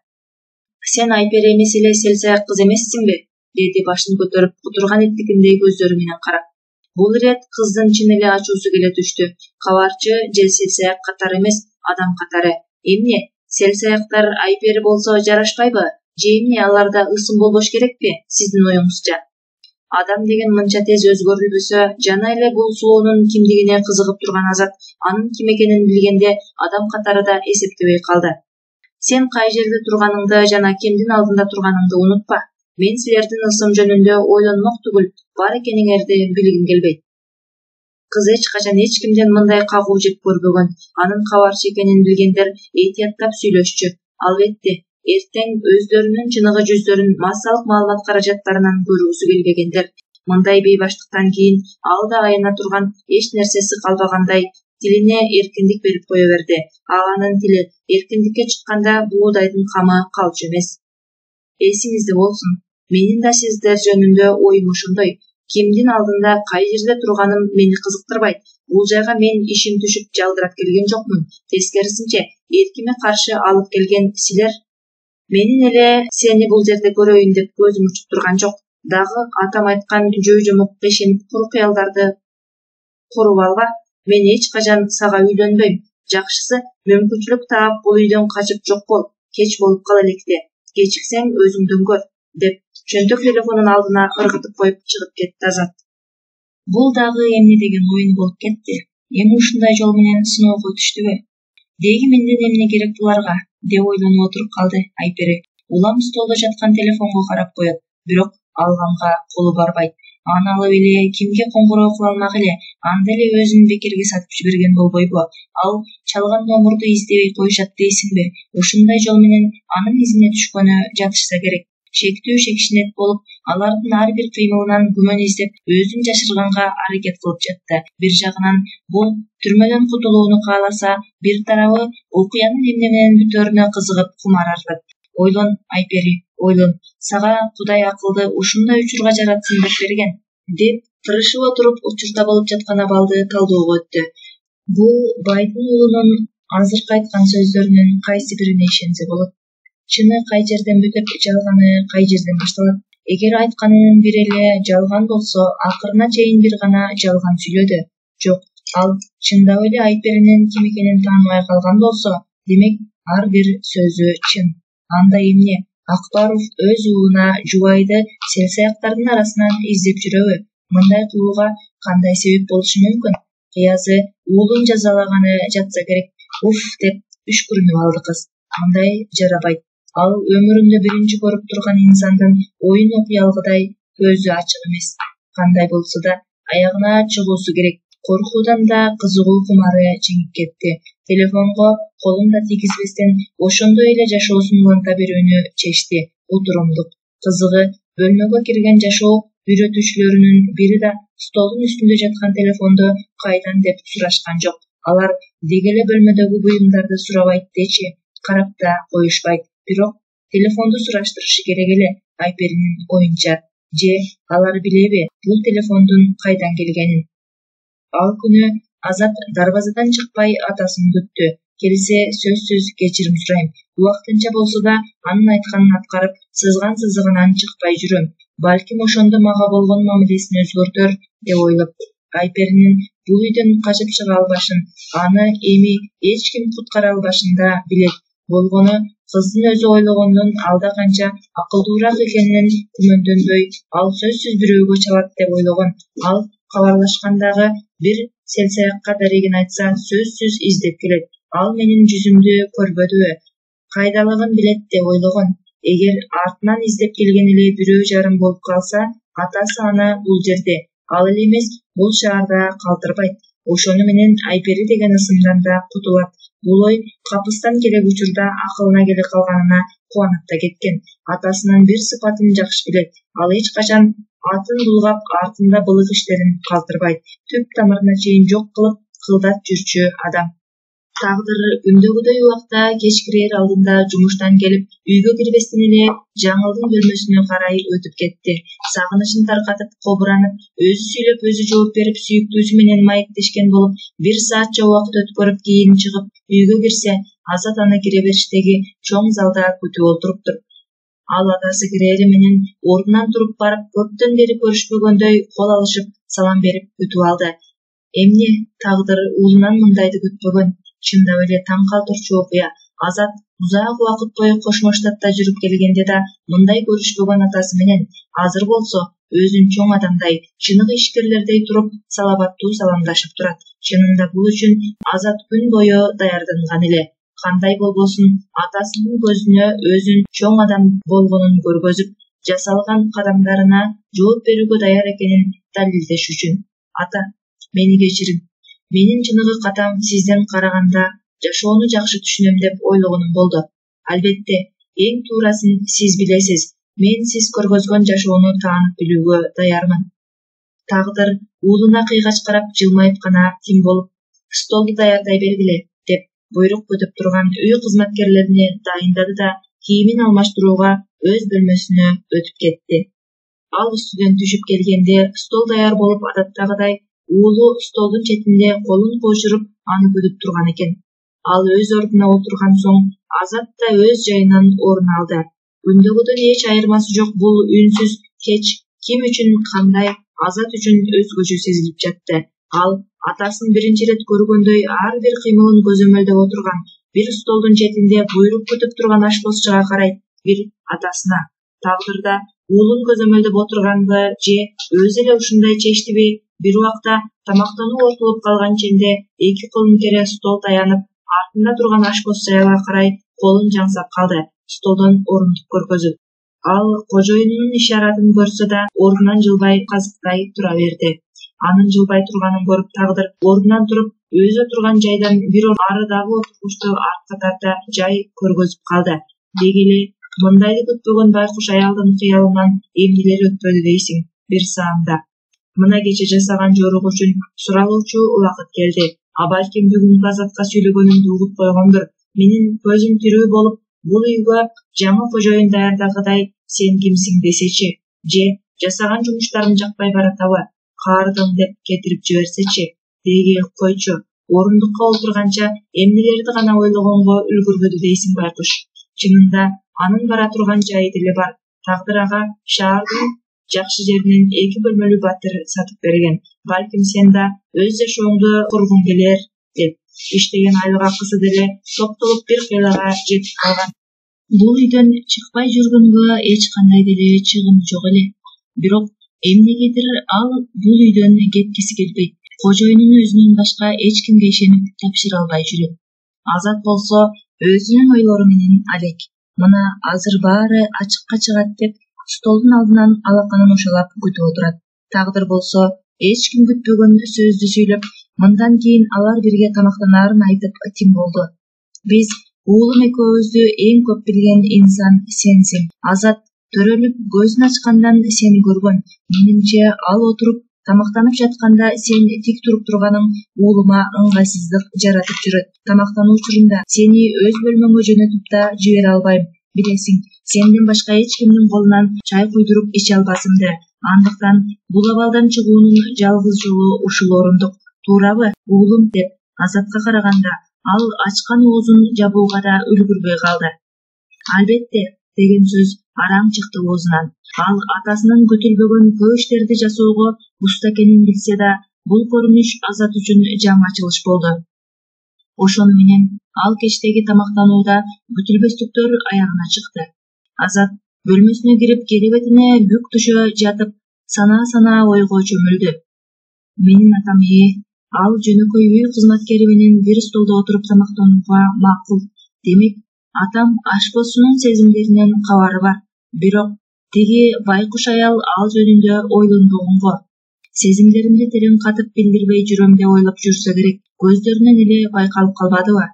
Сен Айпери эмес эле селсаяк кыз эмессиңби? Деди башын көтөрүп, кутурган иттикиндей көздөрү менен карап. Бул ирет кыздын чын эле ачуусу келе түштү. Кабарчы же селсаяк катары эмес, адам катары. Эмне? Селсаяктар Айпери болсо жарашпайбы? Же эмне аларда ысым болбош керекпи, сиздин оюңузча? Адам деген мынча тез өзгөрүлбөсө, жана эле бул сулуунун кимдигине кызыгып турган Азат анын ким экенин билгенде адам катары да эсептебей калды. Сен кай жерде турганыңды жана кимдин алдында турганыңды унутпа. Мен силердин ысым жөнүндө ойлонмок түгүл, бар экениңерди билгим келбейт. Кыз эч качан эч кимден мындай кагуу жеп көрбөгөн. Анын кабарчы экенин билгендер этияттап сүйлөшчү. Албетте, эртең өздөрүнүн чыныгы жүздөрүн массалык маалымат каражаттарынан көрүүсү келбегендер. Мындай бейбаштыктан кийин ал да аяна турган эч нерсеси калбагандай тилине эркиндик берип кое берди. Ал анын тили эркиндикке чыкканда буудайдын камы калчу эмес. Эсиңизде болсун, менин да сиздер жөнүндө оюм ошондой. Кимдин алдында кай жерде турганым мени кызыктырбайт. Бул жайга мен ишим түшүп жалдырап келген жокмун. Тескерисинче, эркиме каршы алып келген силер. Менин эле сени бул жерде көрөйүн деп көзүм учуп турган жок. Дагы атам айткан жой-жомок кешенип кур кыялдарды куруп алба. Мен эч качан сага үйлөнбөйм. Жакшысы мүмкүнчүлүк таап бул үйдөн качып жок бол. Кеч болуп кала электе. Кечиксең өзүңдөн көр, деп чөнтөк телефонун алдына ыргытып коюп чыгып кетти Азат. Бул дагы эмне деген оюн болуп кетти. Эми ушундай жол менен сыноого түштүбү? Деги менден эмне керек буларга, деп ойлонуп отуруп калды Айпери. Улам столдо жаткан телефонго карап коет, бирок алганга колу барбайт. Аны алып эле кимге коңгуроо кыла алмак эле, анда эле өзүн бекерге сатып жиберген болбойбу? Ал чалган номурду издебей коюшат дейсиңби? Ушундай жол менен анын изине түшкөнү жатышса керек. Шектүү шекшинет болуп, алардын ар бир кыймылынан күмөн издеп, өзүн жашырганга аракет кылып жатты. Бир жагынан бул түрмөдөн кутулууну кааласа, бир тарабы окуянын эмне менен бүтөөрүнө кызыгып кумар артат. Ойлон, Айпери, ойлон. Сага Кудай акылды ушундай учурга жаратсын деп берген, деп тырышып отуруп учурда болуп жаткан абалды талдөөгө өттү. Бул байдын уулунун азыркы айткан сөздөрүнүн кайсы бирине ишенсе болот? Чыны кай жерден бүтүп, жалганы кай жерден башталат? Эгер айтканынын бири эле жалган болсо, акырына чейин бир гана жалган сүйлөдү. Жок, ал чындап эле Айперинин ким экенин тааныбай калган болсо, демек ар бир сөзү чын. Анда эмне? Акбаров өз уулуна жубайды сел-саяктардын арасынан издеп жүрөбү? Мындай кылууга кандай себеп болушу мүмкүн? Кыязы уулун жазалаганы жатса керек. Уф деп үшкүрүнүп алды кыз. Мындай жарабайт. Ал өмүрүндө биринчи көрүп турган инсандын оюн окуялгыдай көзү ачык эмес. Кандай болсо да аягына чыгуусу керек. Коркуудан да кызыгуу кумары жеңип кетти. Телефонго колун да тийгизбестен ошондой эле жашоосун уланта берүүнү чечти. Утурумдук. Кызыгы, бөлмөгө кирген жашоо үйрөтүүчүлөрүнүн бири да столдун үстүндө жаткан телефонду кайдан деп сурашкан жок. Алар деги эле бөлмөдөгү буюмдарды сурабайт дечи, карап да коюшпайт. Бирок телефонду сураштырышы керек эле, Айперинин оюнча. Же алар билеби бул телефондун кайдан келгенин? Ал күнү Азат дарбазадан чыкпай атасын күттү. Келсе сөзсүз кечирим сурайм. Убактынча болсо да анын айтканын аткарып, сызган сызыгынан чыкпай жүрөм. Балким ошондо мага болгон мамилесин өзгөртөр деп ойлоп. Айперинин бул үйдөн качып чыга албашын, аны эми эч ким куткара албашын да билет. Болгону кыздын өзү ойлогондон алда канча акылдуураак экенинен күмөндөнбөй, ал сөзсүз бирөөгө чалат деп ойлогон. Ал кабарлашкандагы бир сел-саякка дарегин айтса, сөзсүз издеп келет. Ал менин жүзүмдү көрбөдүбү, кайдалыгын билет деп ойлогон. Эгер артынан издеп келген эле бирөө жарым болуп калса, атасы аны бул жерде, ал эле эмес, бул шаарда калтырбайт. Ошону менен Айпери деген ысымдан да кутулат. Бул ой капыстан келек учурда акылына келе калганына кубанып да кеткен. Атасынын бир сыпатын жакшы билет. Ал эч качан атын булгап, артында былык иштерин калтырбайт. Түп тамырына чейин жок кылып, кылдат жүрчү адам. Тагдыр күндөгүдөй убакта кеч кирер алдында жумуштан келип, үйгө кирбестен эле Жаңылдын бөлмөсүнө карай өтүп кетти. Сагынычын таркатып, кобуранып, өзү сүйлөп, өзү жооп берип, сүйүктүүсү менен маектешкен болуп, 1 саатча убакыт өткөрүп, кийин чыгып, үйгө кирсе, Азат аны кире бериштеги чоң залда күтүп олтуруптур. Ал атасы кирели менен ордунан туруп барып, көптөн бери көрүшпөгөндөй кол алышып, салам берип күтүп алды. Эмне тагдыр уулунан мындайды күтпөгөн? Чындап эле таң калтырчу окуя. Азат узак убакыт бою Кошмо Штатта жүрүп келгенде да мындай көрүшпөгөн атасы менен, азыр болсо өзүн чоң адамдай, чыныгы ишкерлердей туруп, салабаттуу саламдашып турат. Чынында бул үчүн Азат күн бою даярданган эле. Кандай болбосун, атасынын көзүнө өзүн чоң адам болгонун көргөзүп, жасалган кадамдарына жооп берүүгө даяр экенин далилдеш үчүн. Ата, мени кечирин. Менин чыныгы катам сизден караганда жашоону жакшы түшүнөм деп ойлогонум болду. Албетте, эң туурасын сиз билесиз. Мен сиз көргөзгөн жашоону таанып билүүгө даярмын. Тагдыр уулуна кыйгач карап жылмайып гана тим болуп, столду даярдай бергиле, деп буйрук күтүп турган үй кызматкерлерине дайындады да кийимин алмаштырууга өз бөлмөсүнө өтүп кетти. Ал үстүдөн түшүп келгенде стол даяр болуп, адаттагыдай уулу столдун четинде колун кошуруп аны күтүп турган экен. Ал өз ордуна отурган соң Азат да өз жайынан орун алды. Күндөгүдөн эч айырмасы жок бул үнсүз кеч ким үчүн кандай, Азат үчүн өзгөчө сезилип жатты. Ал атасын биринчи ирет көргөндөй ар бир кыймылын көзөмөлдөп отурган, бир столдун четинде буйрук күтүп турган ашпозчуга карайт, бир атасына. Тагдырда уулун көзөмөлдөп отурганбы же өзү эле ушундай чечтиби? Бир убакта тамактануу ортолуп калган ченде эки колун кере стол таянып, артында турган ашпоз саябага карай колун жаңсап калды, столдон орундук көргөзүп. Ал кожоюнунун ишаратын көрсө да ордунан жылбай казыктай тура берди. Анын жылбай турганын көрүп тагдыр ордунан туруп, өзү отурган жайдан бир арыдагы отургучту артка тарта жай көргөзүп калды. Деги эле мындайды күтпөгөн байкуш аялдын кыялынан эмнелер өтпөдү дейсиң бир саамда. Мына кече жасаган жорук үчүн суралуучу убакыт келди. А балким бүгүнкү Азатка сүйлөгөнүмдү угуп койгондур. Менин көзүм тирүү болуп, бул үйгө жаңы кожоюн даярдагыдай сен кимсиң десечи, же жасаган жумуштарым жакпай баратабы, каардым деп кетирип жиберсечи. Деги койчу, орундукка отурганча эмнелерди гана ойлогонго үлгүрбөдү дейсиң байкуш. Чынында анын бара турган жайы деле бар. Тагдыр ага шаардын жакшы жеринен 2 бөлмөлүү батир сатып берген. Балким сен да өз жашооңду кургуң келер деп. Иштеген айлык акысы деле топтолуп бир кыйлага жетип калган. Бул үйдөн чыкпай жүргөнгө эч кандай деле чыгымы жок эле. Бирок эмнегедир ал бул үйдөн кеткиси келбейт. Кожоюнун өзүнөн башка эч кимге ишенип тапшыра албай жүрөт. Азат болсо өзүнүн ойлору менен алек. Мына азыр баары ачыкка чыгат деп столдун алдынан алаканын ушалап күтүп отурат. Тагдыр болсо эч ким күтпөгөн сөздү сүйлөп, мындан кийин алар бирге тамактанаарын айтып тим болду. Биз уулум экөөбүздү эң көп билген инсан сенсиң. Азат төрөлүп көзүн ачкандан сени көргөн. Менимче ал отуруп тамактанып жатканда сен тик туруп турганың уулума ыңгайсыздык жаратып жүрөт. Тамактануу учурунда сени өз бөлмөңө жөнөтүп да жибере албайм. Билесиң, сенден башка эч кимдин колунан чай куйдуруп иче албасымды. Андыктан бул абалдан чыгуунун жалгыз жолу ушул орундук. Туурабы, уулум деп Азатка караганда ал ачкан оозун жабууга да үлгүрбөй калды. Албетте деген сөз араң чыкты оозунан. Ал атасынын көтүлбөгөн көп иштерди жасоого уста экенин билсе да, бул көрүнүш Азат үчүн жаңы ачылыш болду. Ошону менен ал кечтеги тамактанууда күтүлбөстүктөр аягына чыкты. Азат бөлмөсүнө кирип керебетине бүк түшө жатып, санаа ойго чөмүлдү. Менин атам ал жөнөкөй үй кызматкери менен бир столдо отуруп тамактанууга макул. Демек, атам ашпозчунун сезимдеринен кабары бар. Бирок тиги байкуш аял ал жөнүндө ойлонбогонго. Сезимдеримди терең катып билдирбей жүрөм деп ойлоп жүрсө керек. Көздөрүнөн эле байкалып калбадыбы?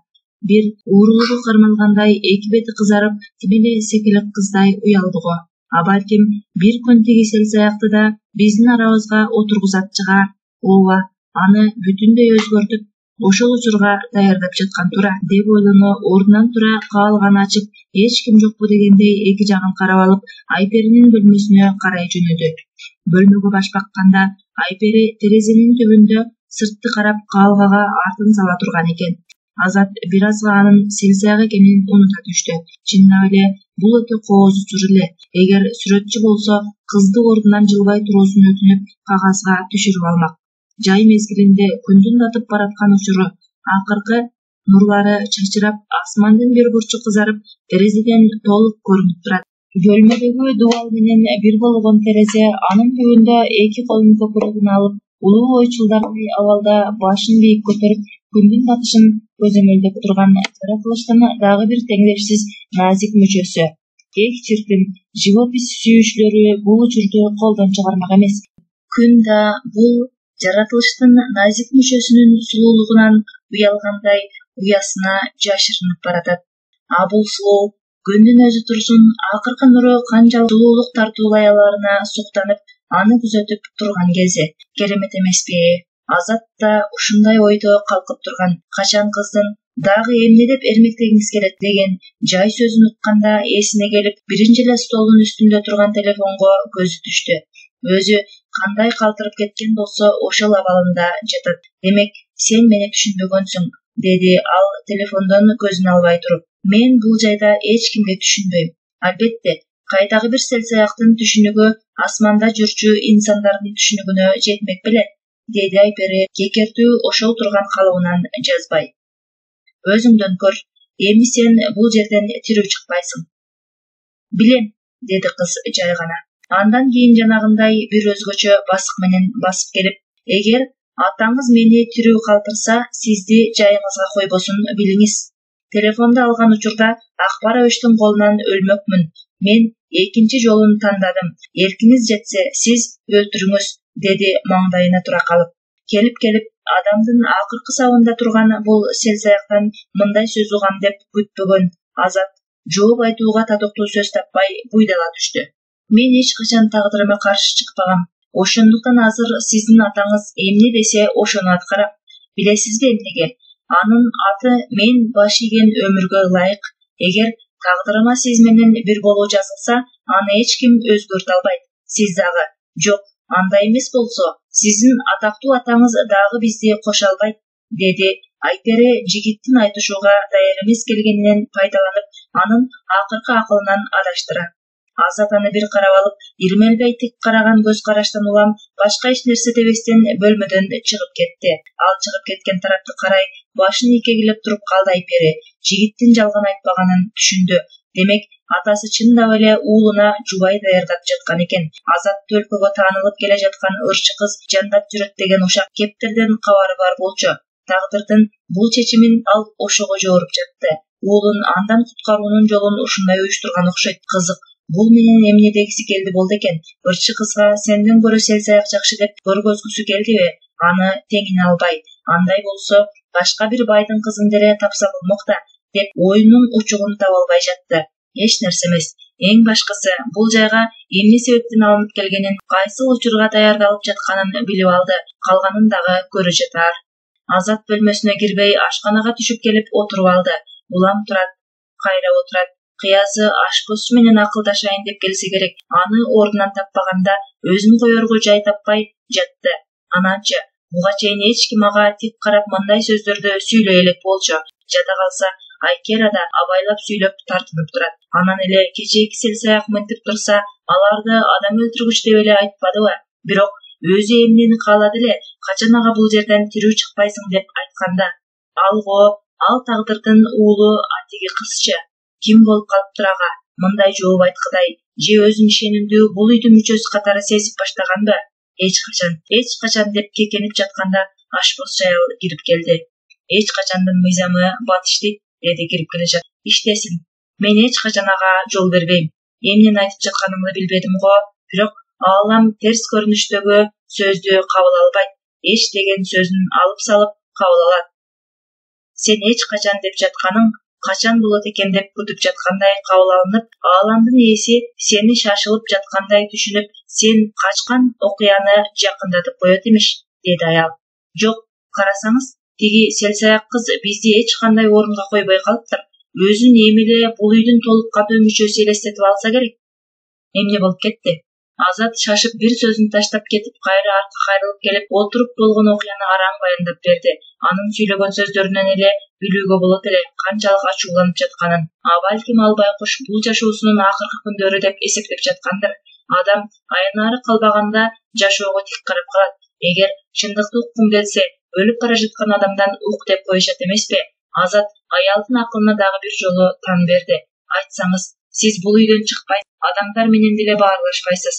Бир уурулугу кармалгандай эки бети кызарып, тим эле секелек кыздай уялды го. А балким бир күн тиги селсаякты да биздин арабызга отургузат чыгар. Ооба, аны бүтүндөй өзгөртүп, ошол учурга даярдап жаткан тура деп ойлоно, ордунан тура каалганы ачып, эч ким жокпу дегендей эки жагын карап алып, Айперинин бөлмөсүнө карай жөнөдү. Бөлмөгө баш бакканда Айпери терезенин түбүндө сыртты карап каалгага артын сала турган экен. Азат бир азга анын селсаяк экенин унута түштү. Чындап эле бул өтө кооз учур эле. Эгер сүрөтчү болсо, кызды ордунан жылбай туруусун өтүнүп, кагазга түшүрүп алмак. Жай мезгилинде күндүн батып бараткан учуру, акыркы нурлары чачырап, асмандын бир бурчу кызарып, терезеден толук көрүнүп турат. Бөлмөдөгү дубал менен бир болгон терезе анын түбүндө эки колун көкүрөгүнө алып, улуу ойчулдагы абалда башын бийик көтөрүп, күндүн батышын көзөмөлдөп турган жаратылыштын дагы бир теңдешсиз назик мүчөсү. Эк чиркин, живопись сүйүүчүлөрү бул учурду колдон чыгармак эмес. Күн да бул жаратылыштын назик мүчөсүнүн сулуулугунан уялгандай уясына жашырынып баратат. А бул сулуу күндүн өзү турсун, акыркы нуру канчалык сулуулук тартуулай аларына суктанып, аны күзөтүп турган кези. Керемет эмеспи? Азат да ушундай ойдо калкып турган. Качан кыздын дагы эмне деп эрмектегиңиз келет деген жай сөзүн укканда эсине келип, биринчи эле столдун үстүндө турган телефонго көзү түштү. Өзү кандай калтырып кеткен болсо ошол абалында жатат. Демек, сен мени түшүнбөгөнсүң, деди ал телефондон көзүн албай туруп. Мен бул жайда эч кимге түшүнбөйм. Албетте, кайдагы бир селсаяктын түшүнүгү асманда жүрчү инсандардын түшүнүгүнө жетмек беле, деди Айпери кекертүү ошол турган калыбынан жазбай. Өзүңдөн көр, эми сен бул жерден тирүү чыкпайсың. Билем, деди кыз жай гана. Андан кийин жанагындай бир өзгөчө басык менен басып келип, эгер атаңыз мени тирүү калтырса, сизди жайыңызга койбосун билиңиз. Телефонду алган учурда Акбар Абиштин колунан өлмөкмүн. Мен экинчи жолун тандадым. Эркиңиз жетсе, сиз өлтүрүңүз, деди маңдайына тура калып. Келип адамдын акыркы сабында турган бул селсаяктан мындай сөз угам деп күтпөгөн Азат жооп айтууга татыктуу сөз таппай буйдала түштү. Мен эч качан тагдырыма каршы чыкпагам. Ошондуктан азыр сиздин атаңыз эмне десе ошону аткарам. Билесизби эмнеге? Анын аты мен баш ийген өмүргө ылайык. Эгер тагдырыма сиз менен бир болуу жазылса, аны эч ким өзгөртө албайт. Сиз дагы. Жок, андай эмес болсо, сиздин атактуу атаңыз дагы бизди кошо албайт, деди Айпери жигиттин айтышууга даяр эмес келгенинен пайдаланып, анын акыркы акылынан адаштыра. Азат аны бир карап алып, ирмелбей тик караган көз караштан улам башка эч нерсе дебестен бөлмөдөн чыгып кетти. Ал чыгып кеткен тарапты карай башын ийкегилеп туруп калды Айпери. Жигиттин жалган айтпаганын түшүндү. Демек, атасы чындап эле уулуна жубай даярдап жаткан экен. Азат төлкөгө таанылып келе жаткан ырчы кыз жандап жүрөт деген ушак кептерден кабары бар болчу. Тагдырдын бул чечимин ал ошого жооруп жатты. Уулун андан куткаруунун жолун ушундай уюштурган окшойт. Кызык, бул менен эмне дегиси келди болду экен? Ырчы кызга сенден көрө селсаяк жакшы деп көргөзгүсү келдиби? Аны теңине албай. Андай болсо, башка бир байдын кызын деле тапса болмок да, деп оюнун учугун таба албай жатты. Эч нерсе эмес. Эң башкысы, бул жайга эмне себептен алынып келгенин, кайсыл учурга даярдалып жатканын билип алды. Калганын дагы көрө жатар. Азат бөлмөсүнө кирбей ашканага түшүп келип отуруп алды. Улам турат, кайра отурат. Кыязы ашпозчу менен акылдашайын деп келсе керек. Аны ордунан таппаганда өзүн коерго жай таппай жатты. Ананчы буга чейин эч ким ага тик карап мындай сөздөрдү сүйлөй элек болчу. Жада калса, Айкера да абайлап сүйлөп тартынып турат. Анан эле кечээки селсаяк мынтип турса, аларды адам өлтүргүч деп эле айтпадыбы? Бирок өзү эмнени каалады эле, качан ага бул жерден тирүү чыкпайсың деп айтканда. Ал тагдырдын уулу атиги кызчы. Ким болуп калыптыр ага? Мындай жооп айткыдай, же өзүн ишенимдүү бул үйдүн мүчөсү катары сезип баштаганбы? Эч качан деп кекенип жатканда ашпозчу аял кирип келди. Эч качандын мыйзамы батиштик, деди кирип келе жатып. Иштесин. Мен эч качан ага жол бербейм. Эмнени айтып жатканымды билбедим го, бирок аалам терс көрүнүштөгү сөздү кабыл албайт. Эч деген сөзүн алып салып кабыл алат. Сен эч качан деп жатканың качан болот экен деп күтүп жаткандай кабыл алынып, ааламдын ээси сени шашылып жаткандай түшүнүп, сен качкан окуяны жакындатып коет имиш, деди аял. Жок, карасаңыз, тиги селсаяк кыз бизди эч кандай орунга койбой калыптыр. Өзүн эми эле бул үйдүн толук кандуу мүчөсү элестетип алса керек. Эмне болуп кетти? Азат шашып бир сөзүн таштап кетип, кайра артка кайрылып келип, отуруп болгон окуяны араң баяндап берди. Анын сүйлөгөн сөздөрүнөн эле билүүгө болот эле канчалык ачууланып жатканын. Балким ал байкуш бул жашоосунун акыркы күндөрү деп эсептеп жаткандыр. Адам аянары калбаганда жашоого тик карап калат. Эгер чындыкты уккум келсе, өлүп бара жаткан адамдан ук деп коюшат эмеспи? Азат аялдын акылына дагы бир жолу тан берди. Айтсаңыз, сиз бул үйдөн чыкпай, адамдар менен деле баарлашпайсыз.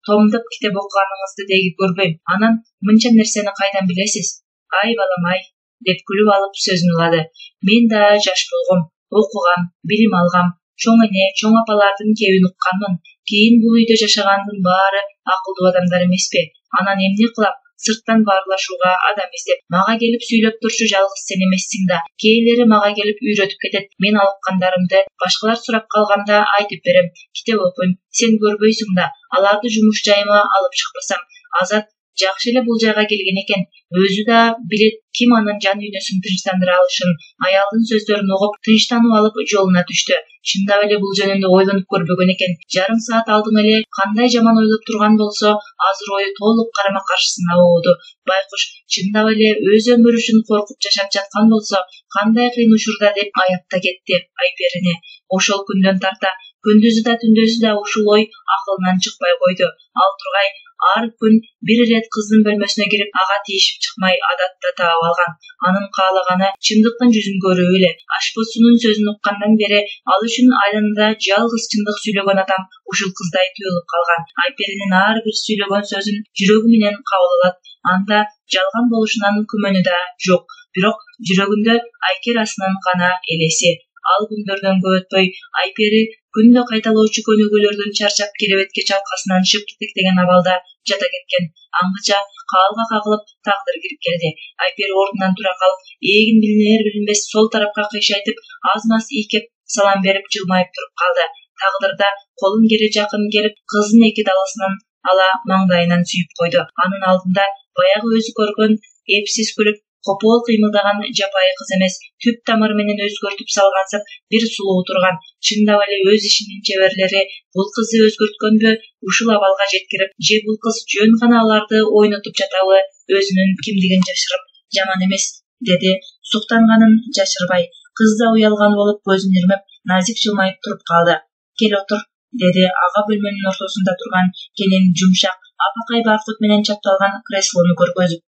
Томдоп китеп окуганыңызды деги көрбөйм. Анан мынча нерсени кайдан билесиз? Ай балам ай, деп күлүп алып сөзүн улады. Мен да жаш болгом, окугам, билим алгам, чоң эне, чоң апалардын кебин укканмын. Кийин бул үйдө жашагандын баары акылдуу адамдар эмеспи? Анан эмне кылам? Сырттан баарлашууга адам издеп, мага келип сүйлөп турчу жалгыз сен эмессиң да. Кээделери мага келип үйрөтүп кетет. Мен алыккандарымды башкалар сурап калганда айтып берем. Китеп окуйм, сен көрбөйсүң да. Аларды жумуш жайыма алып чыкпасам, Азат жакшы эле бул жайга келген экен. Өзү да билет ким анын жан дүйнөсүн тынчтандыра алышын. Аялдын сөздөрүн угуп, тынчтанып алып жолуна түштү. Чындап эле бул жөнүндө ойлонуп көрбөгөн экен. Жарым саат алдың эле кандай жаман ойлоп турган болсо, азыр ою толук карама каршысына болду. Байкуш чындап эле өз өмүрү үчүн коркуп жашап жаткан болсо, кандай кыйын учурда деп аяп да кетти Айперине. Ошол күндөн тарта күндүзү да түндөзү да ушул ой акылынан чыкпай койду. Ал тургай ар күн бир ирет кыздын бөлмөсүнө кирип, ага тийишип чыкмай адатта таап алган. Анын каалаганы чындыктын жүзүн көрүү эле. Ашпозчунун сөзүн уккандан бери ал үчүн айланада жалгыз чындык сүйлөгөн адам ушул кыздай туюлуп калган. Айперинин ар бир сүйлөгөн сөзүн жүрөгү менен кабыл алат. Анда жалган болушунан күмөнү да жок. Бирок жүрөгүндө Айкерасынын гана элеси. Ал күндөрдөн көп өтпөй Айпери күндө кайталоочу көнүгүүлөрдөн чарчап керебетке чалкасынан шып титектеген абалда жата кеткен. Аңгыча каалга кагылып тагдыр кирип келди. Айпери ордунан тура калып, ээгин билинер билинбес сол тарапка кыйшайтып, аз-маз ийкеп салам берип жылмайып туруп калды. Тагдыр да колун кере жакын келип, кыздын эки даласынан ала маңдайынан сүйүп койду. Анын алдында баягы өзү көргөн эпсиз күлүп, копол кыймылдаган жапайы кыз эмес, түп тамыры менен өзгөртүп салгансып бир сулуу турган. Чындап эле өз ишинин чеберлери бул кызды өзгөрткөнбү, ушул абалга жеткирип, же бул кыз жөн гана аларды ойнотуп жатабы, өзүнүн кимдигин жашырып жаман эмес, деди суктанганын жашырбай. Кыз да уялган болуп көзүн ирмеп, назик жылмайып туруп калды. Кел отур, деди ага бөлмөнүн ортосунда турган кенен жумшак, апакай баркут менен чапталган креслону көргөзүп.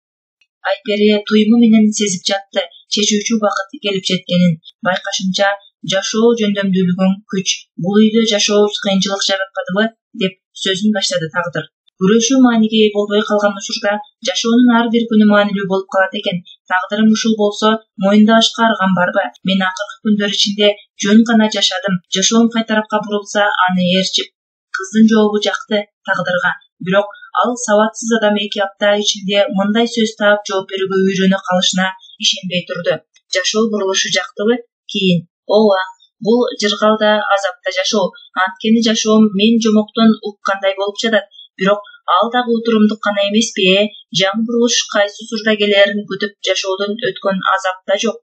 Айпери туйму менен сезип жатты чечүүчү убакыт келип жеткенин. Байкашынча, жашоо жөндөмдүүлүгүң күч, бул үйдө жашообуз кыйынчылык жаратпадыбы, деп сөзүн баштады Тагдыр. Күрөшүү мааниге ээ болбой калган учурда жашоонун ар бир күнү маанилүү болуп калат экен. Тагдырым ушул болсо, моюндабашка аргам барбы? Мен акыркы күндөр ичинде жөн гана жашадым. Жашоом кай тарапка бурулса, аны ээрчип. Кыздын жообу жакты Тагдырга. Бирок ал сабатсыз адам 2 апта ичинде мындай сөз таап жооп берүүгө үйрөнө калышына ишенбей турду. Жашоо бурулушу жактыбы? Кийин: ооба, бул жыргалда азапта жашоо. Анткени жашоом мен жомоктон уккандай болуп жатат. Бирок ал дагы утурумдук гана эмеспи, жаңы бурулуш кайсы учурда келээрин күтүп жашоодон өткөн азап да жок.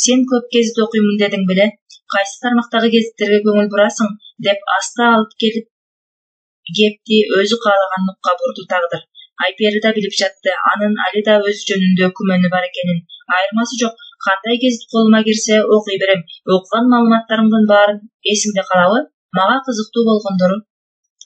Сен көп гезит окуймун дедиң беле? Кайсы тармактагы гезиттерге көңүл бурасың? Деп аста алып келип кепти өзү каалаган нукка бурду Тагдыр. Айпери да билип жатты, анын али да өз жөнүндө күмөнү бар экенин. Айырмасы жок, кандай гезит колума кирсе окуй берем. Окуган маалыматтарымдын баарын эсиңде калабы? Мага кызыктуу болгондору.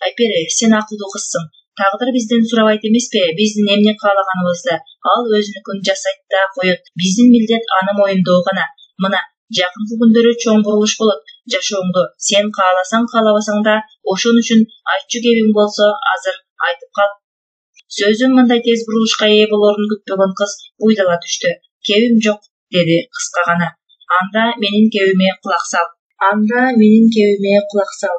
Айпери, сен акылдуу кызсың. Тагдыр бизден сурабайт эмеспи, биздин эмне каалаганыбызды. Ал өзүнүкүн жасайт да коет. Биздин милдет аны моюндоо гана. Мына, жакынкы күндөрү чоң бурулуш болот. Жашооңду сен кааласаң каалабасаң да ошон үчүн айтчу кебиң болсо азыр айтып кал. Сөзүм мындай тез бурулушка ээ болорун күтпөгөн кыз буйдала түштү. Кебим жок, деди кыска гана. Анда менин кебиме кулак сал.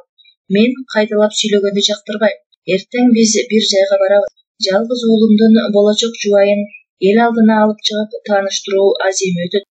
Мен кайталап сүйлөгөндү жактырбайм. Эртең биз бир жайга барабыз. Жалгыз уулумдун болочок жубайын эл алдына алып чыгып тааныштыруу аземи өтөт.